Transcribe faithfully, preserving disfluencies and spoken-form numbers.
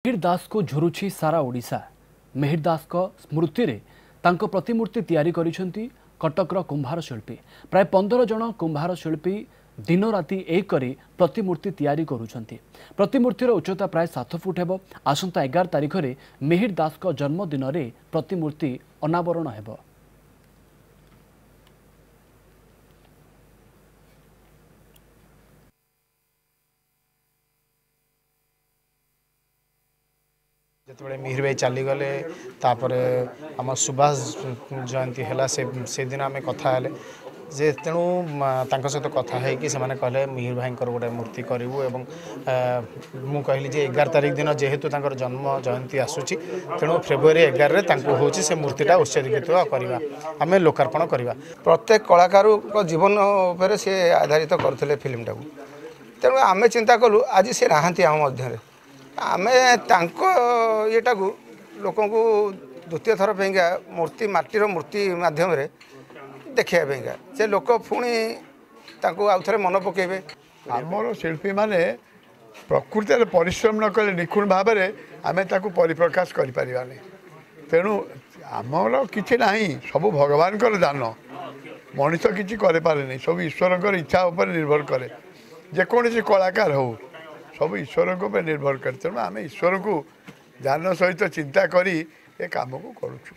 ମିହିର ଦାସକୁ ଝୁରୁଛି ସାରା ଓଡ଼ିଶା। ମିହିର ଦାସଙ୍କ ସ୍ମୃତିରେ ତାଙ୍କ ପ୍ରତିମୂର୍ତ୍ତି ତିଆରି କରିଛନ୍ତି କଟକର କୁମ୍ଭାର ଶିଳ୍ପୀ। ପ୍ରାୟ ପନ୍ଦର ଜଣ କୁମ୍ଭାର ଶିଳ୍ପୀ ଦିନରାତି ଏକ କରି ପ୍ରତିମୂର୍ତ୍ତି ତିଆରି କରୁଛନ୍ତି। ପ୍ରତିମୂର୍ତ୍ତିର ଉଚ୍ଚତା ପ୍ରାୟ ସାତ ଫୁଟ ହେବ। ଆସନ୍ତା ଏଗାର ତାରିଖରେ ମିହିର ଦାସଙ୍କ ଜନ୍ମଦିନରେ ପ୍ରତିମୂର୍ତ୍ତି ଅନାବରଣ ହେବ। ଯେତେବେଳେ ମିହିର ଭାଇ ଚାଲିଗଲେ, ତାପରେ ଆମ ସୁଭାଷ ଜୟନ୍ତୀ ହେଲା, ସେ ସେଦିନ ଆମେ କଥା ହେଲେ ଯେ ତେଣୁ ତାଙ୍କ ସହିତ କଥା ହେଇକି ସେମାନେ କହିଲେ ମିହିର ଭାଇଙ୍କର ଗୋଟେ ମୂର୍ତ୍ତି କରିବୁ, ଏବଂ ମୁଁ କହିଲି ଯେ ଏଗାର ତାରିଖ ଦିନ ଯେହେତୁ ତାଙ୍କର ଜନ୍ମ ଜୟନ୍ତୀ ଆସୁଛି, ତେଣୁ ଫେବୃଆରୀ ଏଗାରରେ ତାଙ୍କୁ ହେଉଛି ସେ ମୂର୍ତ୍ତିଟା ଉତ୍ସର୍ଗୀକୃତ କରିବା, ଆମେ ଲୋକାର୍ପଣ କରିବା। ପ୍ରତ୍ୟେକ କଳାକାରଙ୍କ ଜୀବନ ଉପରେ ସେ ଆଧାରିତ କରୁଥିଲେ ଫିଲ୍ମଟାକୁ। ତେଣୁ ଆମେ ଚିନ୍ତା କଲୁ, ଆଜି ସେ ନାହାନ୍ତି ଆମ ମଧ୍ୟରେ, ଆମେ ତାଙ୍କ ଇଏଟାକୁ ଲୋକଙ୍କୁ ଦ୍ୱିତୀୟ ଥର ପାଇଁକା ମୂର୍ତ୍ତି, ମାଟିର ମୂର୍ତ୍ତି ମାଧ୍ୟମରେ ଦେଖାଇବା ପାଇଁକା, ସେ ଲୋକ ପୁଣି ତାଙ୍କୁ ଆଉ ଥରେ ମନେ ପକାଇବେ। ଆମର ଶିଳ୍ପୀମାନେ ପ୍ରକୃତରେ ପରିଶ୍ରମ ନ କଲେ ନିଖୁଣ ଭାବରେ ଆମେ ତାକୁ ପରିପ୍ରକାଶ କରିପାରିବାନି। ତେଣୁ ଆମର କିଛି ନାହିଁ, ସବୁ ଭଗବାନଙ୍କର ଦାନ। ମଣିଷ କିଛି କରିପାରେନି, ସବୁ ଈଶ୍ୱରଙ୍କର ଇଚ୍ଛା ଉପରେ ନିର୍ଭର କରେ। ଯେକୌଣସି କଳାକାର ହେଉ, ସବୁ ଈଶ୍ୱରଙ୍କ ଉପରେ ନିର୍ଭର କରେ। ତେଣୁ ଆମେ ଈଶ୍ୱରଙ୍କୁ ଧ୍ୟାନ ସହିତ ଚିନ୍ତା କରି ଏ କାମକୁ କରୁଛୁ।